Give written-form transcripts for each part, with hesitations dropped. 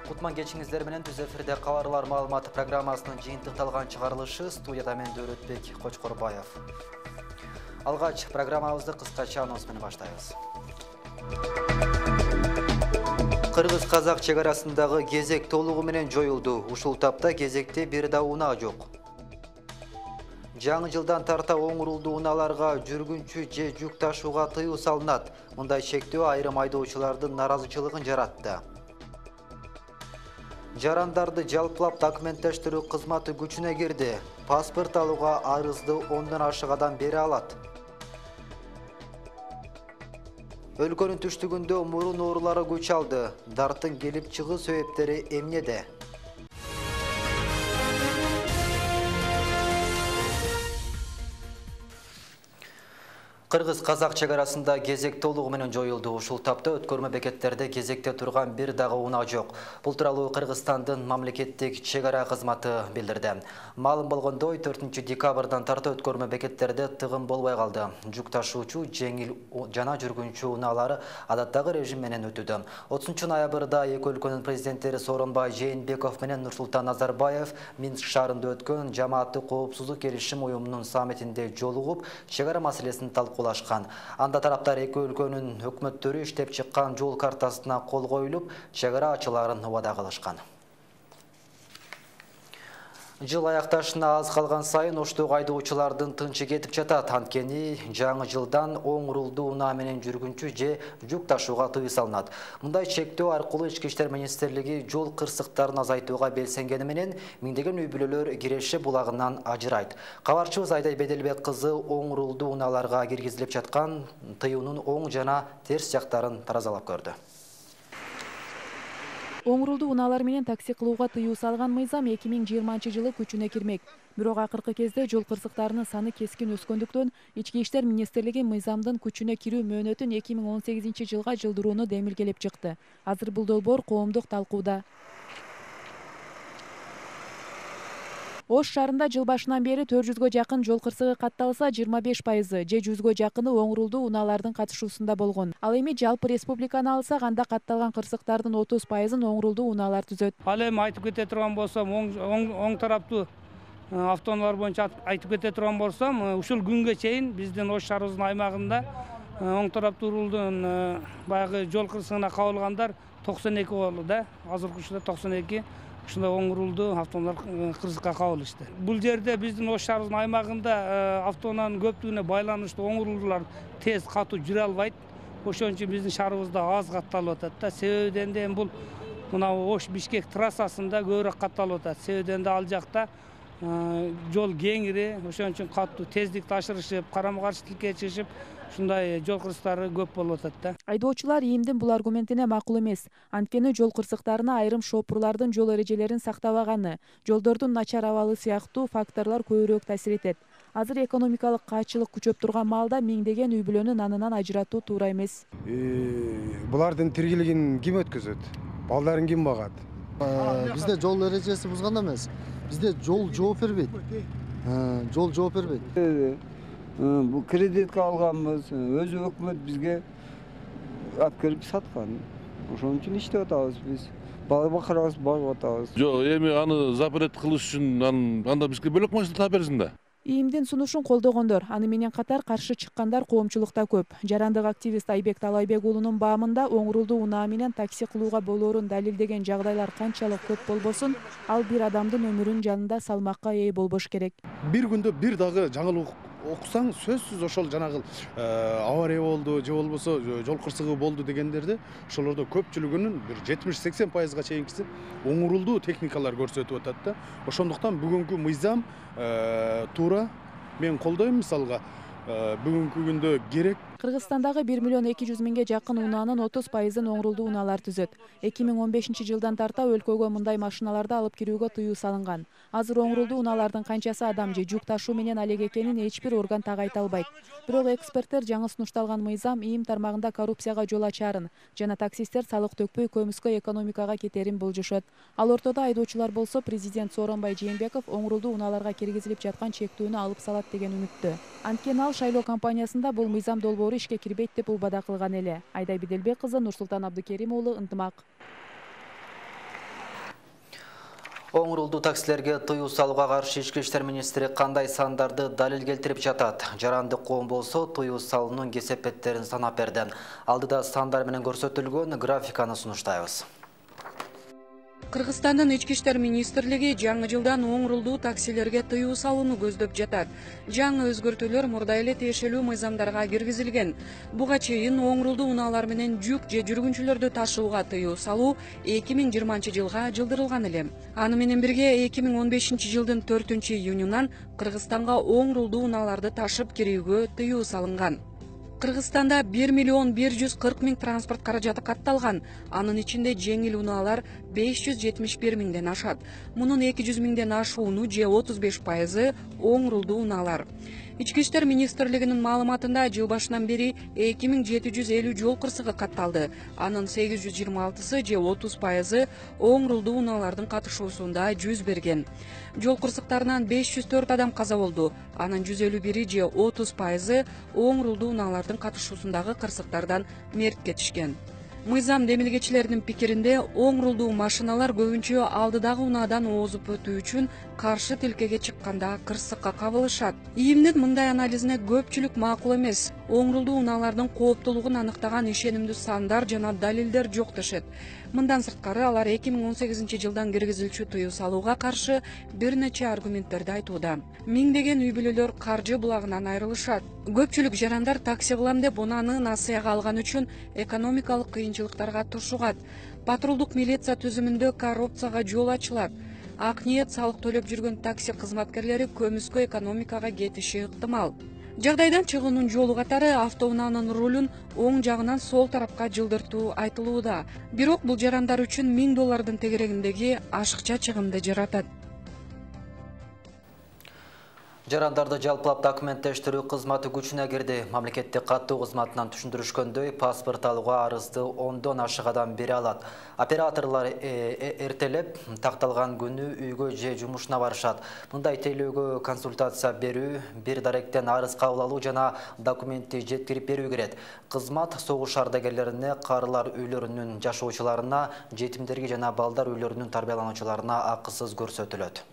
Кутман кечиңиздер менен түз эфирде кабарлар маалыматы программасынын жыйынтыкталган чыгарылышы студияда мен Дөөлөтбек Кочкорбаев. Алгач программабызды кыскача анонс менен баштайбыз. Кыргыз-казак чек арасындагы кезек толугу менен жоюлду. Ушул тапта кезекте бир да унаа жок. Жаңы жылдан тарта оңурулду унааларга жүргүнчү же жүк ташууга тыюу салынат. Мындай чектөө айрым айдоочулардын наразычылыгын жаратты. Жарандарды жалпылап документтештирүү кызматы күчүнө кирди. Паспорт алууга арызды 10 ашык адам бере алат. Өлкөнүн түштүгүндө мурун оорулары күч алды. Дарттын келип чыгуу себептери эмнеде? Кыргыз-казак чек арасында кезек толугу менен жоюлду. Ушул тапта өткөрмө бекеттерде кезекте турган бир дагы унаа жок. Бул тууралуу Кыргызстандын мамлекеттик чек ара кызматы билдирди. Маалым болгондой, 4 декабрдан тарта өткөрмө бекеттерде тыгын болбой калды. Жүк ташуучу, жеңил жана жүргүнчү унаалары адаттагы режим менен өтүүдө. 30 ноябрда эки өлкөнүн президенттери Сооронбай Жээнбеков менен Нурсултан Назарбаев Минск шаарында өткөн жамааттык коопсуздук келишим уюмунун саммитинде жолугуп, чек ара маселесин талкуулашкан. Анда тараптар эки өлкөнүн өкмөттөрү иштеп чыккан жол картасына кол коюлуп, чек ара ачыларын убада кылышкан. Жыл аякташына аз калган сайын Оштогу айдоочулардын тынчы кетип жатат. Анткени жаңы жылдан оңурулду унаа менен жүргүнчү же жүк ташууга тыюу салынат. Мындай чектөө аркылуу Ички иштер министрлиги жол кырсыктарын азайтууга белсенгени менен миңдеген үй бүлөлөр Киреше булагынан ажырайт. Кабарчыбыз Айдай Беделбек кызы оңурулду унааларга киргизилип жаткан тыюунун оң жана терс жактарын таразалап көрдү. Оңурулду унаалар менен такси кылууга тыюу салган мыйзам 2020-жылы күчүнө кирмек. Бирок акыркы кезде жол кырсыктарынын саны кескин өскөндүктөн Ички иштер министрлиги мыйзамдын күчүнө кирүү мөөнөтүн 2018-жылга жылдырууну демилгелеп чыкты. Азыр бул долбоор коомдук талкууда. Ош шаарында жыл башынан бери 400гө жакын жол кырсыгы катталса, 25% же 100гө жакыны оңурулду унаалардын катышуусунда болгон. Ал эми жалпы республиканы алсак, анда катталган кырсыктардын 30%-ын оңурулду унаалар түзөт. Ал эми айтып кете турган болсом, оң тараптуу автоунаалар боюнча айтып кете турган болсом, ушул күнгө чейин биздин Ош шаарыбыздын аймагында оң тараптуу рулдун баягы жол кырсыгына кабылгандар 92 болду да. Азыркы учурда 92 ушундай оңурулду автоунаалар кырсыкка кабылышты. Бул жерде биздин Ош шаарыбыздын аймагында автоунаанын көптүгүнө байланыштуу оңурулуулар тез катуу жүрө албайт. Ошон үчүн биздин шаарыбызда аз катталып атат да. Себебиден да бул мына Ош-Бишкек трассасында көбүрөөк катталып атат. Себебиден да ал жакта жол кеңири, ошон үчүн катуу тездикти ашырышып, карама-каршылыкка чыгышып, ушундай жол кырсыктары көп болуп атат да. Айдоочулар ИИМдин бул аргументине макул эмес. Анткени жол кырсыктарына айрым шопурлардын жол эрежелерин сактабаганы, жолдордун начар абалы сыяктуу факторлор көбүрөөк таасир этет. Азыр экономикалык каачылык күчөп турган маалда миңдеген үй бүлөнү анынан ажыратуу туура эмес. Булардын тиргилигин ким өткөзөт? Балдарын ким багат? Бизде жол эрежеси бузганда эмес. Бизде жол жооп бербейт. Жол жооп бербейт. Бул кредитке алганбыз, өзү өкмөт бизге алып саткан. Ошон үчүн иштеп атабыз биз. Бала бакырабыз, багып атабыз. Жок, эми аны запрет кылыш үчүн анда бизге бөлөк машина таап берсин да. ИИМдин сунушун колдогондор, аны менен катар каршы чыккандар коомчулукта көп. Жарандык активист Айбек Талайбек уулунун баамында оңурулду унаа менен такси кылууга болоорун далилдеген жагдайлар канчалык көп болбосун, ал бир адамдын өмүрүнүн жанында салмакка ээ болбош керек. Бир күндө бир дагы жаңылык окусаң, сөзсүз ошол жанагы авария болду же болбосо жол кырсыгы болду дегендерди, ошолордо көпчүлүгүнүн бир 70-80%га чейинкиси оңурулду техникалар көрсөтүп атат да. Ошондуктан бүгүнкү мыйзам туура, мен колдойм. Мисалга бүгүнкү күндө керек. Кыргызстандагы 1.200.000 жакын унаанын 30%-ын оңурулду унаалар түзөт. 2015-жылдан тарта өлкөгө мындай машиналарды алып кирүүгө тыюу салынган. Азыр оңурулду унаалардын канчасы адам же жүк ташуу менен алек экенин эч бир орган так айта албайт. Бирок эксперттер жаңы сунушталган мыйзам ИИМ тармагында коррупцияга жол ачарын жана таксисттер салык төкпөй көмүскө экономикага кетерин болжошот. Ал ортодо айдоочулар болсо президент Сооронбай Жээнбеков оңурулду унааларга киргизилип жаткан чектүүнү алып салат деген үмүттө. Анткени ал шайлоо кампаниясында бул мыйзам долбоору ишке кирбейт деп убада кылган эле. Айдай Беделбек кызы, Нурсултан Абдыкерим уулу, Ынтымак. Оңрулду таксилерге тыюу салууга каршы Ички иштер министри кандай сандарды далил келтирип жатат? Жаранды коом болсо тыюу салуунун кесепеттерин санап берди. Алдыда сандар менен көрсөтүлгөн графиканы сунуштайбыз. Кыргызстандын Ички иштер министрлиги жаңы жылдан оңрулдуу таксилерге тыюу салууну көздөп жатат. Жаңы өзгөртүүлөр мурда эле тиешелүү мыйзамдарга киргизилген. Буга чейин оңрулдуу унаалар менен жүк же жүргүнчүлөрдү ташууга тыюу салуу 2020-жылга жылдырылган эле. Аны менен бирге 2015-жылдын 4-июнунан Кыргызстанга оңрулдуу унааларды ташып кирүүгө тыюу салынган. Кыргызстанда 1,140,000 транспорт каражаты катталган. Анын ичинде жеңил унаалар 571,000ден ашат. Мунун 200,000ден ашууну же 35% оңрулдуу унаалар. Ички иштер министрлигинин маалыматында жыл башынан бери 2750 жол кырсыгы катталды. Анын 826сы же 30% оңрулдуу унаалардын катышуусунда жүз берген. Жол кырсыктарынан 504 адам каза болду. Анын 151 же 30% оңрулдуу унаалардын катышуусундагы кырсыктардан мерт кетишкен. Мыйзам демилгечилеринин пикиринде оңрулдуу машиналар көбүнчө алдыдагы унаадан озуп өтүү үчүн каршы тилкеге чыкканда кырсыкка кабылышат. ИИМдин мындай анализине көпчүлүк макул эмес. Оңрулдуу унаалардын кооптуулугун аныктаган ишенимдүү сандар жана далилдер жок дешет. Мындан сырткары алар 2018-жылдан киргизилчү тыюу салууга каршы бир нече аргументтерди айтууда. Миңдеген үй бүлөлөр каржы булагынан айрылышат. Көпчүлүк жарандар такси кылам деп унааны насыяга алган үчүн экономикалык кыйынчылыктарга туршугат. Патрулдук милиция түзүмүндө коррупцияга жол ачылат. Ак ниет салык төлөп жүргөн такси кызматкерлери көмүскө экономикага кетиши ыктымал. Жагдайдан чыгуунун жолу катары автоунаанын рулун оң жагынан сол тарапка жылдыртуу айтылууда. Бирок бул жарандар үчүн $1000 тегерегиндеги ашыкча чыгымды жаратат. Жарандарды жалпылап документтештирүү кызматы күчүнө кирди. Мамлекеттик каттоо кызматынан түшүндүрүшкөндөй, паспорт алууга арызды 10дон ашык адам бере алат. Операторлор эртелеп такталган күнү үйгө же жумушуна барышат. Мындай тейлөөгө консультация берүү, бир даректен арыз кабыл алуу жана документти жеткирип берүү керек. Кызмат согуш ардагерлерине, карылар үйлөрүнүн жашоочуларына, жетимдерге жана балдар үйлөрүнүн тарбиялануучуларына акысыз көрсөтүлөт.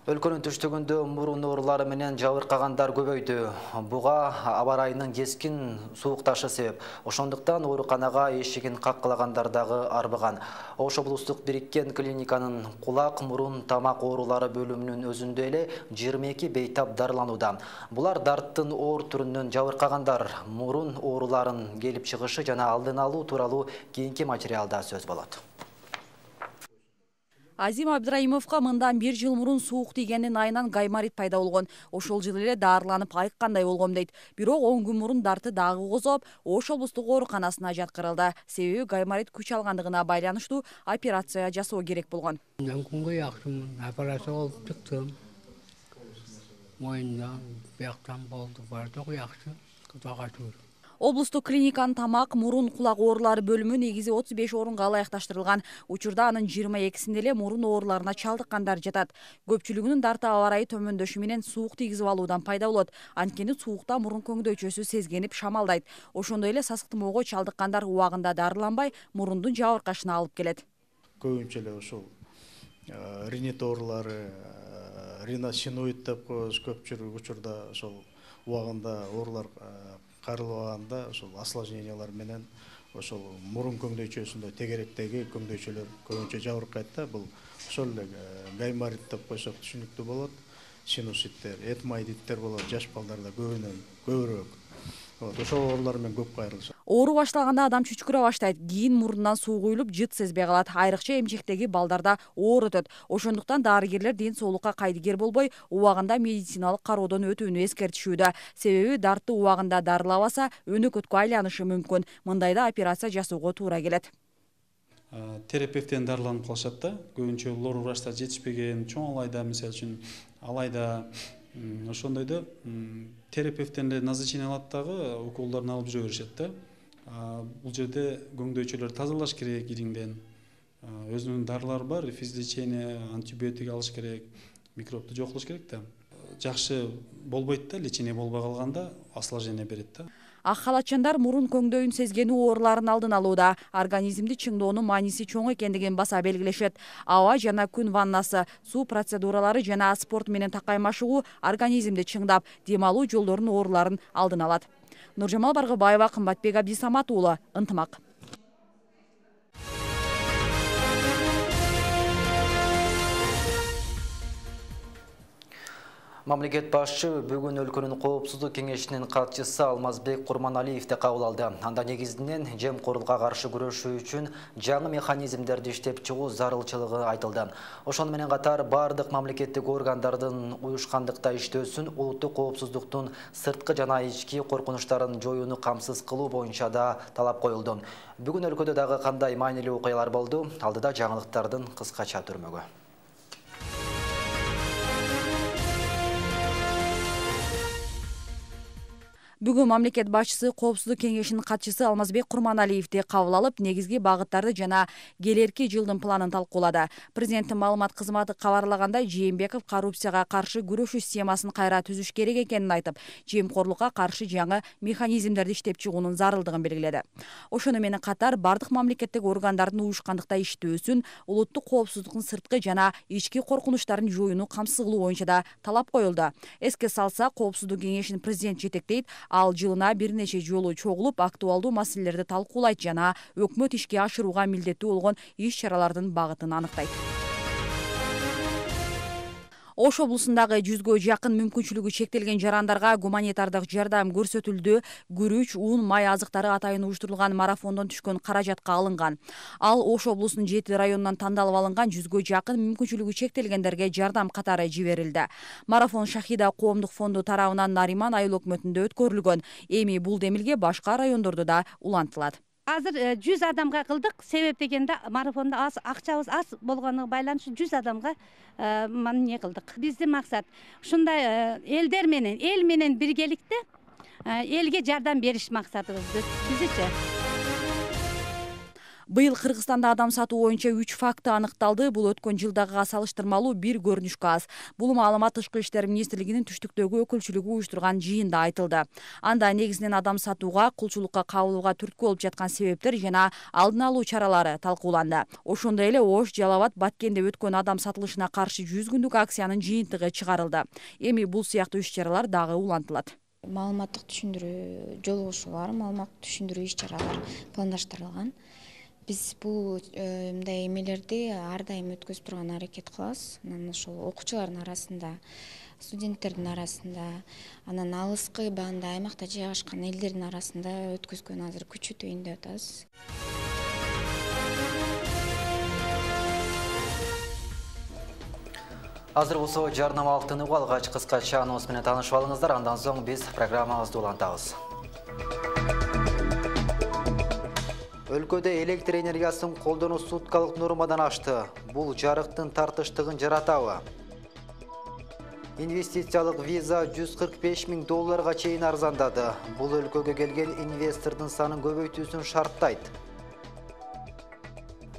Өлкөнүн түштүгүндө мурун оорулары менен жабыркагандар көбөйдү. Буга аба ырайынын кескин суукташы себеп. Ошондуктан ооруканага эшигин каккылагандар дагы арбыган. Ош облустук бириккен клиниканын кулак, мурун, тамак оорулары бөлүмүнүн өзүндө эле 22 бейтап дарыланууда. Булар дарттын оор түрүнөн жабыркагандар. Мурун ооруларын келип чыгышы жана алдын алуу тууралуу кийинки материалда сөз болот. Азим Абдраимовго мындан 1 жыл мурун суук тийгендин айынан гайморит пайда болгон. Ошол жылы эле дарыланып айыккандай болгом дейт. Бирок 10 күн мурун дарты дагы козоп, Ош облустук ооруканасына жаткырылды. Себеби гайморит күч алгандыгына байланыштуу операция жасоо керек болгон. Күнгө жакшымын, операция болуп чыктым. Моюндан, бияктан болду, бардыгы жакшы. Кудайга шүгүр. Облустук клиниканын тамак, мурун, кулак оорулары бөлүмү негизи 35 орунга ылайыкташтырылган. Учурда анын 22синде эле мурун ооруларына чалдыккандар жатат. Көпчүлүгүнүн дарты аба ырайы төмөндөшү менен суук тийгизип алуудан пайда болот. Анткени суукта мурун көңдөйчөсү сезгенип шамалдайт. Ошондой эле сасыктымоого чалдыккандар убагында дарыланбай, мурундун жабыркашына алып келет. Көбүнчө эле ушул ринит оорулары, риносиноид деп коебуз, көпчүлүк учурда ошол убагында оорулар карылбаганда ошол осложнениялар менен ошол мурун көңдөйчөсүндө тегеректеги көңдөйчөлөр көбүнчө жабыркайт да. Бул ошол эле гайморит деп койсок түшүнүктүү болот. Синуситтер, этмоидиттер болот, жаш балдарда көбүрөөк. Ошол оорулар менен көп кайрылышат. Оору башталганда адам чүчкүрө баштайт, кийин мурундан суу куюлуп, жыт сезбей калат. Айрыкча эмчектеги балдарда оор өтөт. Ошондуктан дарыгерлер ден соолукка кайдыгер болбой, убагында медициналык кароодон өтүүнү эскертишүүдө. Себеби дартты убагында дарылабаса, өнөкөткө айланышы мүмкүн. Мындайда операция жасоого туура келет. Терапевттен дарыланып калышат да. Көбүнчө лор врачтар жетишпеген, чоң алайда, мисалы үчүн алайда ошондойдо терапевттен эле назначение алат дагы уколдорун алып жүрө беришет да. Бул жерде көңдөйчөлөр тазалаш керек ириңден. Өзүнүн дарылары бар, физлечение, антибиотик алыш керек, микробду жок кылыш керек да. Жакшы болбойт да, лечение болбой калганда осложнение берет да. Ак халатчандар мурун көңдөйүн сезгенүү ооруларын алдын алууда организмди чыңдоонун мааниси чоң экендигин баса белгилешет. Аба жана күн ваннасы, суу процедуралары жана спорт менен такай машыгуу организмди чыңдап, дем алуу жолдорунун ооруларын алдын алат. Нуржамал Баргыбаева, Кымбатбек Абдисамат уулу, Ынтымак. Мамлекет башчы бүгүн өлкөнүн коопсуздук кеңешинин катчысы Алмазбек Курманалиевди кабыл алды. Анда негизинен жемкорлукка каршы күрөшүү үчүн жаңы механизмдерди иштеп чыгуу зарылчылыгы айтылды. Ошону менен катар бардык мамлекеттик органдардын уюшкандыкта иштөөсүн, улуттук коопсуздуктун сырткы жана ички коркунучтарын жоюуну камсыз кылуу боюнча да талап коюлду. Бүгүн өлкөдө дагы кандай маанилүү окуялар болду? Алдыда жаңылыктардын кыскача түрмөгү. Бүгүн мамлекет башчысы Коопсуздук кеңешинин катчысы Алмазбек Курманалиевди кабыл алып, негизги багыттарды жана келерки жылдын планын талкуулады. Президенттин маалымат кызматы кабарлагандай, Жээнбеков коррупцияга каршы күрөшүү системасын кайра түзүш керек экенин айтып, жемкорлукка каршы жаңы механизмдерди иштеп чыгуунун зарылдыгын белгиледи. Ошону менен катар бардык мамлекеттик органдардын уюшкандыкта иштөөсүн, улуттук коопсуздуктун сырткы жана ички коркунучтарын жоюуну камсыз кылуу боюнча да талап коюлду. Эске салса, Коопсуздук кеңешин президент жетектейт. Ал жылына бир нече жолу чогулуп, актуалдуу маселелерди талкуулайт жана өкмөт ишке ашырууга милдеттүү болгон иш-чаралардын багытын аныктайт. Ош облусундагы 100гө жакын мүмкүнчүлүгү чектелген жарандарга гуманитардык жардам көрсөтүлдү. Күрүч, ун, май азыктары атайын уюштурулган марафондон түшкөн каражатка алынган. Ал Ош облусунун 7 районунан тандалып алынган 100гө жакын мүмкүнчүлүгү чектелгендерге жардам катары жиберилди. Марафон Шахида коомдук фонду тарабынан Нариман айыл өкмөтүндө өткөрүлгөн. Эми бул демилге башка райондордо да улантылат. Азыр 100 адамга кылдык. Себеп дегенде марафонда акчабыз аз болгонуна байланыштуу 100 адамга не кылдык. Биздин максат ушундай элдер менен, эл менен биргеликте элге жардам бериш максатыбыз бизичи. Быйыл Кыргызстанда адам сатуу боюнча 3 факты аныкталды. Бул өткөн жылдагыга салыштырмалуу бир көрүнүшкө аз. Бул маалымат Тышкы иштер министрлигинин түштүктөгү өкүлчүлүгү уюштурган жыйында айтылды. Анда негизинен адам сатууга, кулчулукка кабылууга түрткү болуп жаткан себептер жана алдын алуу чаралары талкууланды. Ошондой эле Ош, Жалал Абад, Баткенде өткөн адам сатылышына каршы 100 күндүк акциянын жыйынтыгы чыгарылды. Эми бул сыяктуу иш-чаралар дагы улантылат. Маалыматтык түшүндүрүү жолугушуулар, маалыматтык түшүндүрүү иш-чаралар пландаштырылган. Биз бул мындай эмелерди ар дайым өткөзүп турган аракет кылабыз. Анан ошол окуучулардын арасында, студенттердин арасында, анан алыскы баанда аймакта жайгашкан элдердин арасында өткөзгөн азыр күчү түйүндүп атабыз. Азыр болсо жарнамалык тыныгуу алгач кыскача анонс менен таанышып алыңыздар. Андан соң биз программабызды улантабыз. Өлкөдө электр энергиясын колдонуу суткалык нормадан ашты. Бул жарыктын тартыштыгын жаратабы? Инвестициялык виза $145 000 чейин арзандады. Бул өлкөгө келген инвестордун санын көбөйтүүсүн шарттайт.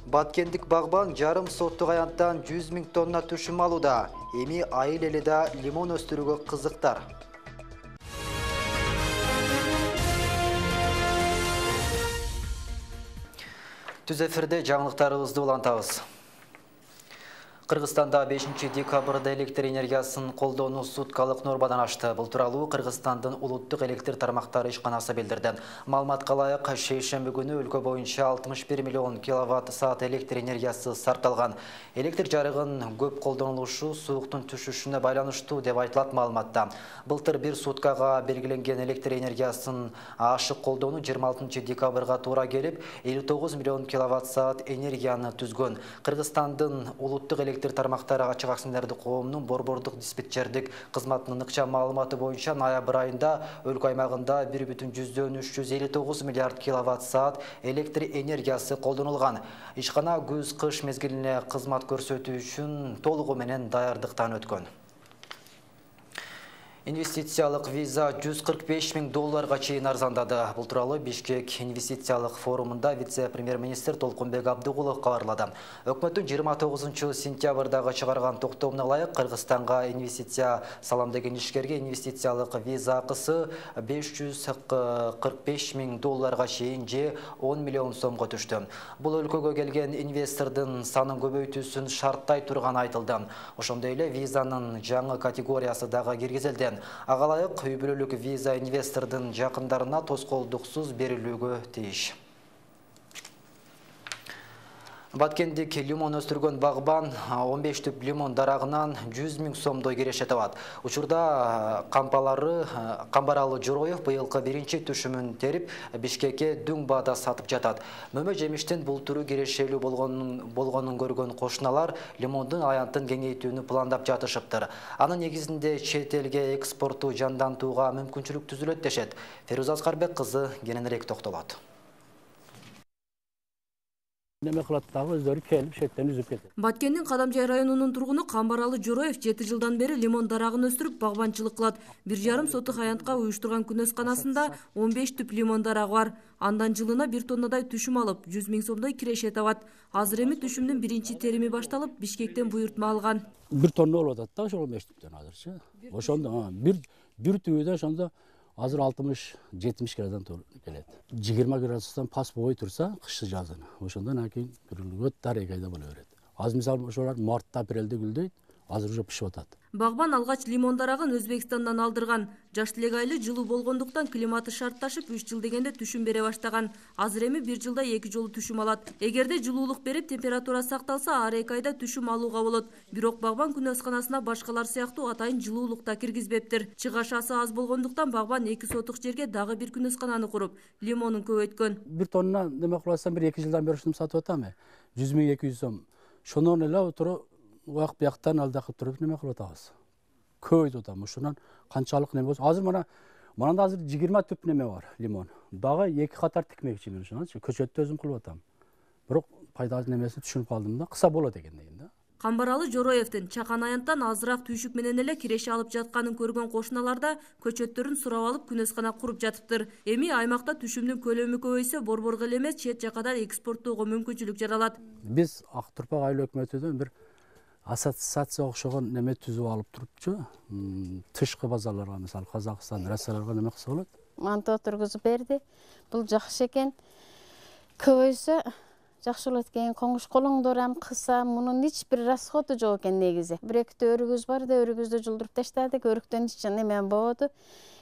Баткендик багбан жарым соттук аянттан 100 000 тонна түшүм алууда. Эми айыл эли да лимон өстүрүүгө кызыктар. Түз эфирде жаңылыктарыбызды улантабыз. Кыргызстанда 5 декабрда электр энергиясын колдонуу суткалык нормадан ашты. Бул тууралуу Кыргызстандын улуттук электр тармактары ишканасы билдирди. Маалыматка ылайык, шейшемби күнү өлкө боюнча 61 миллион киловатт-саат электр энергиясы сарпталган. Электр жарыгын көп колдонулушу сууктун түшүшүнө байланыштуу деп айтылат маалыматта. Былтыр бир суткага белгиленген электр энергиясын ашык колдонуу 26 декабрга туура келип, 59 миллион киловатт-саат энергияны түзгөн. Кыргызстандын улуттук электр тармактары ачык акционердик коомунун борбордук диспетчердик кызматынын ыкчам маалыматы боюнча ноябрь айында өлкө аймагында 1,359 миллиард киловатт-саат электр энергиясы колдонулган. Ишкана күз-кыш мезгилине кызмат көрсөтүү үчүн толугу менен даярдыктан өткөн. Инвестициялык виза $145.000 чейин арзандады. Бул тууралуу Бишкек инвестициялык форумунда вице-премьер-министр Толкунбек Абдыгулов кабарлады. Өкмөттүн 29-сентябрдагы чыгарган токтомуна ылайык Кыргызстанга инвестиция салам деген ишкерге инвестициялык виза акысы $545.000 чейин же 10 миллион сомго түштү. Бул өлкөгө келген инвестордун санын көбөйтүүсүн шарттай турганы айтылды. Ошондой эле визанын жаңы категориясы дагы киргизилди. Ага ылайык үй бүлөлүк виза инвестордун жакындарына тоскоолдуксуз берилүүгө тийиш. Баткендик лимон өстүргөн багбан 15 түп лимон дарагынан 100 000 сомдой киреше табат. Учурда Камбаралы Жороев быйылкы биринчи түшүмүн терип Бишкекке дүң баада сатып жатат. Мөмө жемиштин бул түрү кирешелүү болгонун көргөн кошуналар лимондун аянтын кеңейтүүнү пландап жатышыптыр. Анын негизинде чет элге экспорту жандантууга мүмкүнчүлүк түзүлөт дешет. Феруза Аскарбек кызы кененирээк токтолот. Баткендин Кадамжай районунун тургуну Камбаралы Жороев 7 жылдан бери лимон дарагын өстүрүп багбанчылык кылат. 1,5 сотук аянтка уюштурган күнөсканасында 15 түп лимон дарагы бар. Андан жылына 1 тоннадай түшүм алып, 100 000 сомдой киреше табат. Азыр эми түшүмдүн биринчи терими башталып, Бишкектен буйртма алган. 1 тонна болуп атат да, ошол 15 түптөн азырчы. Ошондо бир түбүдө ошондо азыр 60-70 градустан келет. 20 градустан пас болбой турса, кышты жазын. Ошондон кийин күрүлгөт дарегайда боло берет. Азыр мисалы ошолар мартта, апрелде гүлдөйт, азыр уже пишип атат. Багбан алгач лимон дарагын Өзбекстандан алдырган. Жаш элек айлы жылуу болгондуктан климаты шартташып 3 жыл дегенде түшүм бере баштаган. Азыр эми 1 жылда 2 жолу түшүм алат. Эгерде жылуулук берип температура сакталса, ар 2 айда түшүм алууга болот. Бирок багбан күнөсканасына башкалар сыяктуу атайын жылуулук да киргизбептир. Чыгашасы аз болгондуктан багбан 2 сотук жерге дагы бир күнөскананы куруп, лимонун көбөйткөн. 1 тонна деме кыласам, 1-2 жылдан бери ушуну сатып атам. 100 200 сом. Шонон эле отуруп уак бияктан алдакып туруп неме кылып атабыз. Көйдү атам. Ушунан канчалык неме болсо, азыр мында азыр 20 түп неме бар, лимон. Дагы 2 катар тикмекчимин ушунчу. Көчөттү өзүм кылып атам. Бирок пайдасы немесин түшүнүп калдым да, кыса болот экен деген да. Камбаралы Жороевдин чакан аянттан азыраак түйшүк менен эле киреше алып жатканын көргөн кошуналарда көчөттөрүн сурап алып күнөскана куруп жатыптыр. Эми аймакта түшүмдүн көлөмү көбөйсө, борборго эле эмес, чет жакка да экспорттоого мүмкүнчүлүк жаралат. Биз Ак Турпак айыл өкмөтүнөн бир ассоциация окшогон неме түзүп алып турупчу. Тышкы базарларга, мисалы Казакстан, Россияларга неме кылса болот? Манты отургузуп берди. Бул жакшы экен. Көбөйсө жакшы болот экен. Коңуш колоңдор ам кыса, мунун эч бир расходу жок экен негизи. 1-2 өрүгүбүз бар да, өрүгүбүздү жулдуруп таштадык. Өрүктөн эч неме болбоду.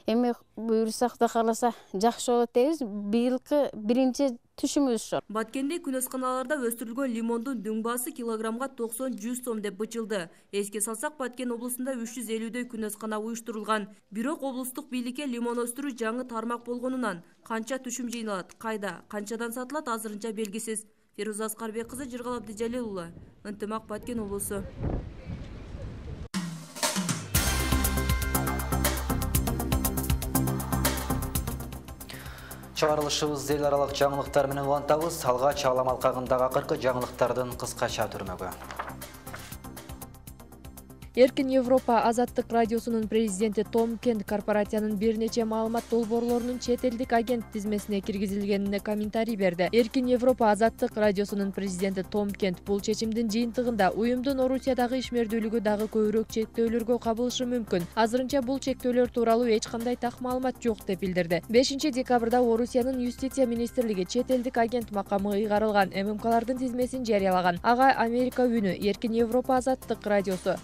Эми буйрсак да каласа жакшы болот дейбиз. Быйылкы биринчи түшүмүбүз ошол. Баткенде күнөсканаларда өстүрүлгөн лимондун дүң баасы килограммга 90-100 сом деп бычылды. Эске салсак, Баткен облусунда 350дөй күнөскана уюштурулган. Бирок облустук бийликке лимон өстүрүү жаңы тармак болгонунан канча түшүм жыйналат, кайда, канчадан сатылат азырынча белгисиз. Феруза Аскарбек кызы, Жыргал Абдыжалил уулу, Ынтымак, Баткен облусу. Чыгарылышыбыз эл аралык жаңылыктар менен улантабыз. Алгач Алам алкагындагы акыркы жаңылыктардын кыскача түрмөгү. Эркин Европа Азаттык радиосунун президенти Том Кент корпорациянын бир нече маалымат долбоорлорунун чет элдик агент тизмесине киргизилгенине комментарий берди. Эркин Европа Азаттык радиосунун президенти Том Кент бул чечимдин жыйынтыгында уюмдун Орусиядагы ишмердүүлүгү дагы көбүрөөк чектөөлөргө кабылышы мүмкүн. Азырынча бул чектөөлөр тууралуу эч кандай так маалымат жок деп билдирди. 5 декабрда Орусиянын юстиция министрлиги чет элдик агент макамы ыйгарылган ММКлардын тизмесин жарыялаган. Ага Америка үнү, Эркин Европа Азаттык радиосу,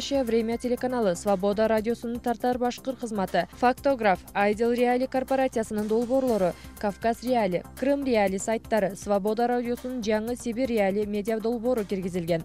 Время телеканалы, Свобода радиосунун тартар башкыр кызматы, Фактограф, Айдел Реали корпорациясынын долбоорлору, Кавказ Реали, Крым Реали сайттары, Свобода радиосунун жаңы Сибирь Реали медиа долбоору киргизилген.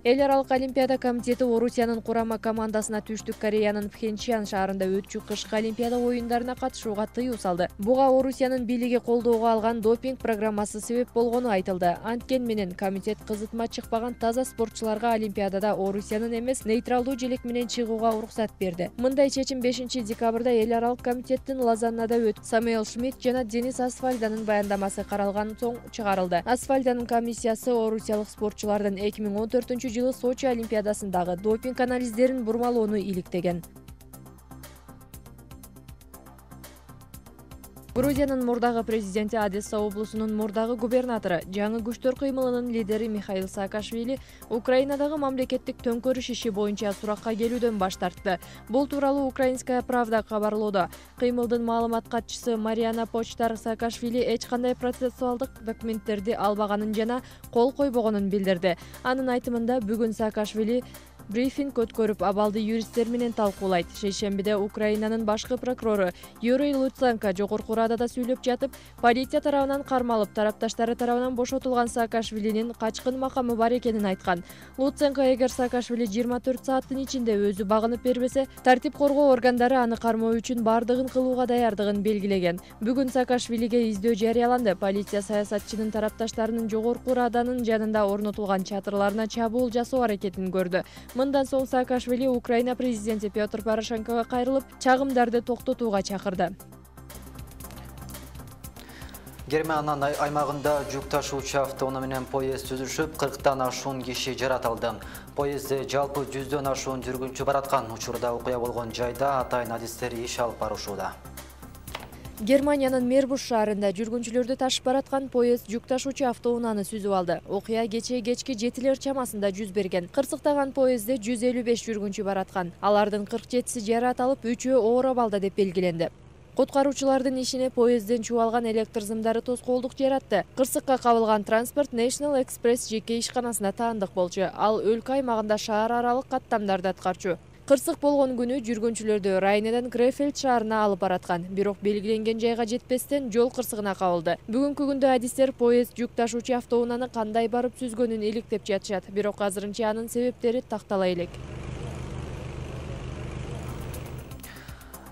Эл аралык Олимпиада комитети Орусиянын курама командасына Түштүк Кореянын Пхенчхан шаарында өтчү кышкы Олимпиада оюндарына катышууга тыюу салды. Буга Орусиянын бийлиги колдоого алган допинг программасы себеп болгону айтылды. Анткен менен комитет кызытма чыкпаган таза спортчуларга Олимпиадада Орусиянын эмес нейтралдуу желек менен чыгууга уруксат берди. Мындай чечим 5 декабрда эл аралык комитеттин Лозаннада өтүп, Самуэл Шмидт жана Денис Асфальданын баяндамасы каралган соң чыгарылды. Асфальданын комиссиясы орусиялык спортчулардын 2014 жылы Сочи олимпиадасындагы допинг анализдерин бурмалоону иликтеген. Грузиянын мурдагы президенти Одесса облусунун мурдагы губернатору, жаңы күчтөр кыймылынын лидери Михаил Саакашвили Украинадагы мамлекеттик төңкөрүш иши боюнча суракка келүүдөн баш тартты. Бул тууралуу Украинская правда кабарлоодо. Кыймылдын маалымат катчысы Мариана Почтар Саакашвили эч кандай процессуалдык документтерди албаганын жана кол койбогонун билдирди. Анын айтымында бүгүн Саакашвили брифинг өткөрүп, абалды юристтер менен талкуулайт. Шейшембиде Украинанын башкы прокурору Юрий Луценко Жогорку Радада сүйлөп жатып, полиция тарабынан кармалып, тарапташтары тарабынан бошотулган Саакашвилинин качкын макамы бар экенин айткан. Луценко эгер Саакашвили 24 сааттын ичинде өзү багынып бербесе, тартип коргоо органдары аны кармоо үчүн бардыгын кылууга даярдыгын белгилеген. Бүгүн Саакашвилиге издөө жарыяланды. Полиция саясатчынын тарапташтарынын Жогорку Раданын жанында орнотулган чатырларына чабуул жасоо аракетин көрдү. Мындан соң Саакашвили Украина президенти Петр Порошенкого кайрылып, чагымдарды токтотууга чакырды. Германия аймагында жүк ташуучу автоунаа менен поезд түзүшүп, 40тан ашуун киши жаратылды. Поездде жалпы 100дөн ашуун жүргүнчү бараткан. Учурда окуя болгон жайда атайын адистер иш алып барышууда. Германиянын Мербуш шаарында жүргүнчүлөрдү ташып бараткан поезд жүк ташуучу автоунааны сүзүп алды. Окуя кечээ кечки 7 чамасында жүз берген. Кырсыктаган поездде 155 жүргүнчү бараткан. Алардын 47си жаратылып, 3-өө оор абалда деп белгиленди. Куткаруучулардын ишине поездден чубалган электр зымдары тоскоолдук жаратты. Кырсыкка кабылган транспорт National Express жеке ишканасына таандык болчу. Ал өлкө аймагында шаар аралык каттамдарды аткарчу. Кырсык болгон күнү жүргүнчүлөрдү Райнеден Крефельд шаарына алып бараткан. Бирок белгиленген жайга жетпестен жол кырсыгына кабылды. Бүгүнкү күндө адистер поезд жүк ташуучу автоунааны кандай барып сүзгөнүн иликтеп жатышат. Бирок азырынча анын себептери тактала элек.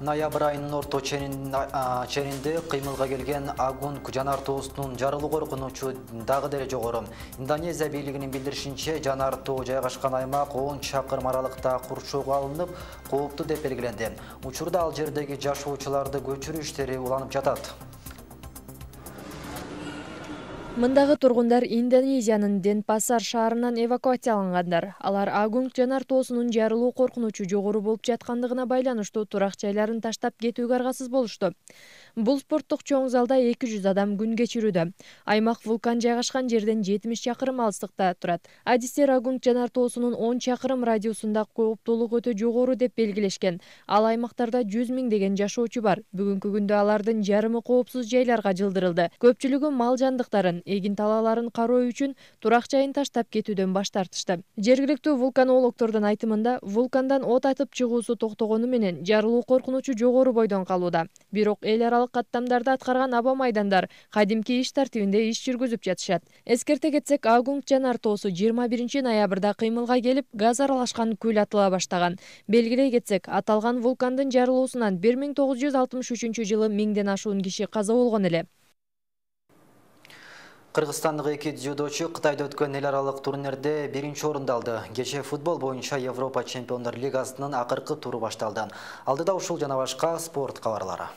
Ноябрь айынын орто ченинде кыймылга келген Агунг жанар тоосунун жарылуу коркунучу дагы деле жогору. Индонезия бийлигинин билдиришинче, жанар тоо жайгашкан аймак 10 чакырым аралыкта курчоого алынып, кооптуу деп белгиленди. Учурда ал жердеги жашоочуларды көчүрүү иштери уланып жатат. Мындагы тургундар Индонезиянын Денпасар шаарынан эвакуациялангандар. Алар Агунг жанар тоосунун жарылуу коркунучу жогору болуп жаткандыгына байланыштуу турак жайларын таштап кетүүгө аргасыз болушту. Бул спорттук чоң залда 200 адам күн кечирүүдө. Аймак вулкан жайгашкан жерден 70 чакырым алыстыкта турат. Адистер Агунг жанар тоосунун 10 чакырым радиусунда кооптуулук өтө жогору деп белгилешкен. Ал аймактарда 100 миңдеген жашоочу бар. Бүгүнкү күндө алардын жарымы коопсуз жайларга жылдырылды. Көпчүлүгү мал жандыктарын, эгин талааларын кароо үчүн турак жайын таштап кетүүдөн баш тартышты. Жергиликтүү вулканологдордун айтымында, вулкандан от атып чыгуусу токтогону менен жарылуу коркунучу жогору бойдон калууда. Бирок эл аралык каттамдарды аткарган аба майдандар кадимки иш тартибинде иш жүргүзүп жатышат. Эскерте кетсек, Агунг жанар тоосу 21 ноябрда кыймылга келип, газ аралашкан күл атыла баштаган. Белгилей кетсек, аталган вулкандын жарылуусунан 1963 жылы 1000ден ашуун киши каза болгон эле. Кыргызстандык 2 дзюдочу Кытайда өткөн эл аралык турнирде 1-чи орунду алды. Кечээ футбол боюнча Европа чемпиондор лигасынын акыркы туру башталды. Алдыда ушул жана башка спорт кабарлары.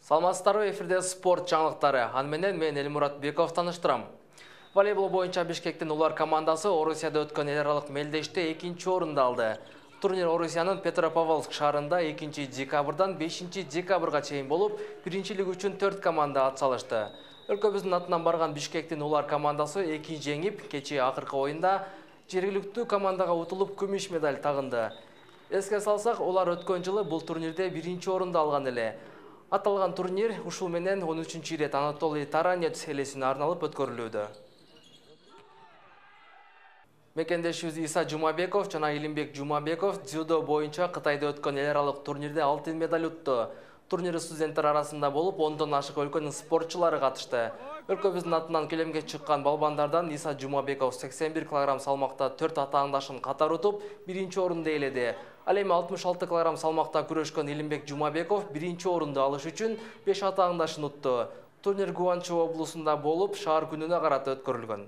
Саламатсыздарбы, эфирде спорт жаңылыктары. Аны менен мен Элмурат Беков таныштырам. Волейбол боюнча Бишкектин улар командасы Орусияда өткөн эл аралык мелдеште 2-чи орунду алды. Турнир Орусиянын Петропавловск шаарында 2 декабрдан 5 декабрга чейин болуп, биринчилик үчүн 4 команда атсалышты. Өлкөбүздүн атынан барган Бишкектин улар командасы 2 жеңип, кечээ акыркы оюнда жергиликтүү командага утулуп күмүш медаль тагынды. Эске салсак, улар өткөн жылы бул турнирде 1-чи орунду алган эле. Аталган турнир ушул менен 13-чү ирет Анатолий Таранец элесине арналып өткөрүлүүдө. Мекендешибиз Иса Жумабеков жана Илимбек Жумабеков дзюдо боюнча Кытайда өткөн эл аралык турнирде алтын медаль утту. Турнир студенттер арасында болуп, 10дон ашык өлкөнүн спортчулары катышты. Өлкөбүздүн атынан келемге чыккан балбандардан Иса Жумабеков 81 кг салмакта 4 атаандашын катар утуп, 1-чи орунду ээледи. Ал эми 66 кг салмакта күрөшкөн Илимбек Жумабеков 1-чи орунду алыш үчүн 5 атаандашын утту. Турнир Гуанчжоу облусунда болуп, шаар күнүнө карата өткөрүлгөн.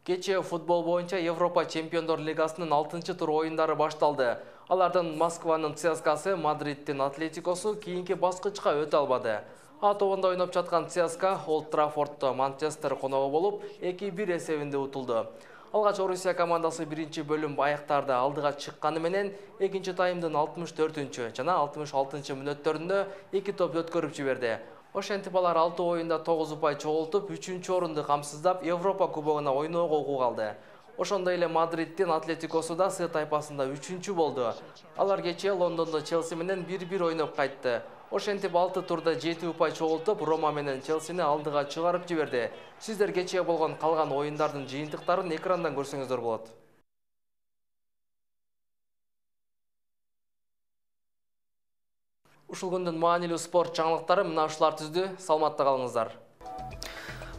Кечээ футбол боюнча Европа чемпиондор лигасынын 6-чы тур оюндары башталды. Алардын Москванын ЦСКАсы, Мадридтин Атлетикосу кийинки баскычка өтө албады. А тобунда ойноп жаткан ЦСКА Олд Траффордто Манчестер коногу болуп 2-1 эсебинде утулду. Алгач Орусия командасы биринчи бөлүм аяктарда алдыга чыкканы менен экинчи таймдын 64-чү жана 66-чы мүнөттөрүндө 2 топ өткөрүп жиберди. Ошентип алар 6 оюнда 9 упай чогултуп, 3-орунду камсыздап Европа кубогуна ойноого укук алды. Ошондой эле Мадриддин Атлетикосу да С тайпасында 3-чү болду. Алар кечээ Лондондо Челси менен 1-1 ойноп кайтты. Ошентип 6 турда 7 упай чогултуп, Рома менен Челсини алдыга чыгарып жиберди. Сиздер кечээ болгон калган оюндардын жыйынтыктарын экрандан көрсөңүздөр болот. Ушул күндүн маанилүү спорт жаңылыктары мына ушулар түздү. Саламатта калыңыздар.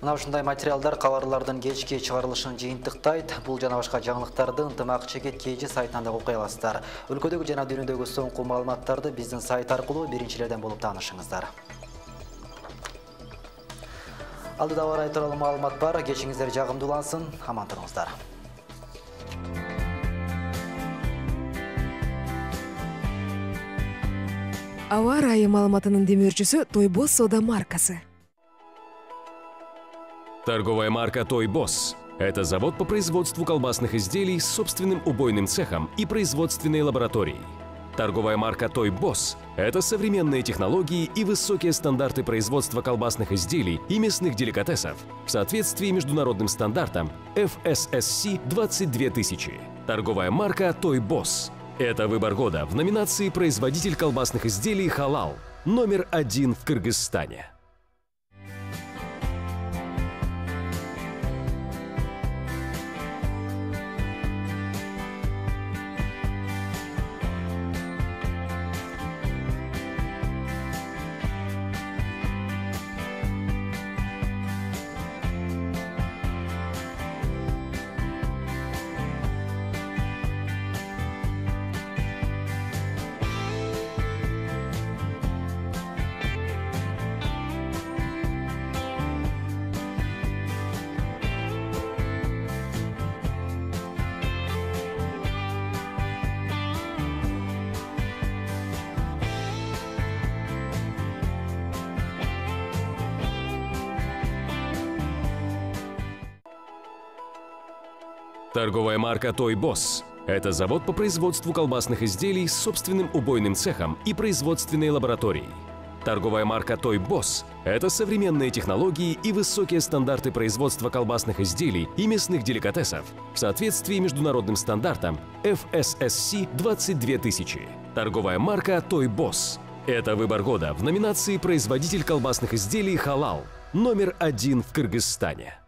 Мына ушундай материалдар кабарлардын кечки чыгарылышын жыйынтыктайт. Бул жана башка жаңылыктарды ынтымак чекет KG сайтынан да окуй аласыздар. Өлкөдөгү жана дүйнөдөгү соңку маалыматтарды биздин сайт аркылуу биринчилерден болуп таанышыңыздар. Алдыда ауа райы тууралуу маалымат бар. Кечиңиздер жагымдуулансын. Аман туруңуздар. Ауа райы маалыматынын демөөрчүсү Тойбос сода маркасы. Торговая марка «Тойбос» – это завод по производству колбасных изделий с собственным убойным цехом и производственной лабораторией. Торговая марка «Тойбос» – это современные технологии и высокие стандарты производства колбасных изделий и мясных деликатесов в соответствии международным стандартам FSSC 22000. Торговая марка «Тойбос» – это выбор года в номинации «Производитель колбасных изделий халал» номер 1 в Кыргызстане. Торговая марка «Тойбос» – это завод по производству колбасных изделий с собственным убойным цехом и производственной лабораторией. Торговая марка «Тойбос» – это современные технологии и высокие стандарты производства колбасных изделий и мясных деликатесов в соответствии международным стандартам FSSC 22000. Торговая марка «Тойбос» – это выбор года в номинации «Производитель колбасных изделий халал» номер 1 в Кыргызстане.